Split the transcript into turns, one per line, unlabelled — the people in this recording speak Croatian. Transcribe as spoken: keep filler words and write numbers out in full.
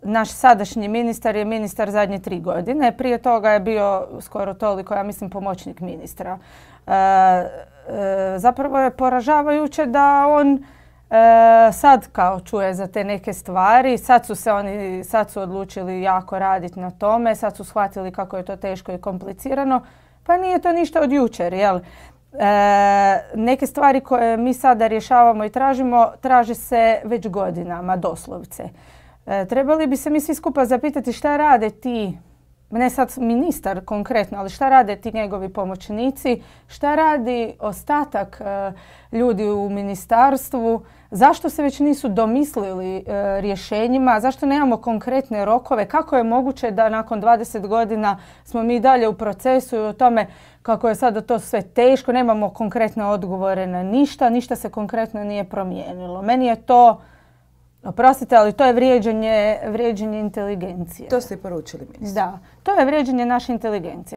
naš sadašnji ministar je ministar zadnje tri godine. Prije toga je bio skoro toliko, ja mislim, pomoćnik ministra. E, e, zapravo je poražavajuće da on e, sad kao čuje za te neke stvari. Sad su se oni sad su odlučili jako raditi na tome. Sad su shvatili kako je to teško i komplicirano. Pa nije to ništa od jučer, jel? E, neke stvari koje mi sada rješavamo i tražimo, traže se već godinama, doslovce. E, trebali bi se mi svi skupa zapitati šta rade ti, ne sad ministar konkretno, ali šta rade ti njegovi pomoćnici, šta radi ostatak e, ljudi u ministarstvu, zašto se već nisu domislili e, rješenjima, zašto nemamo konkretne rokove, kako je moguće da nakon dvadeset godina smo mi dalje u procesu i o tome kako je sada to sve teško, nemamo konkretne odgovore na ništa, ništa se konkretno nije promijenilo. Meni je to, oprostite, ali to je vrijeđanje, vrijeđanje inteligencije.
To ste i poručili ministru.
Da, to je vrijeđanje naše inteligencije.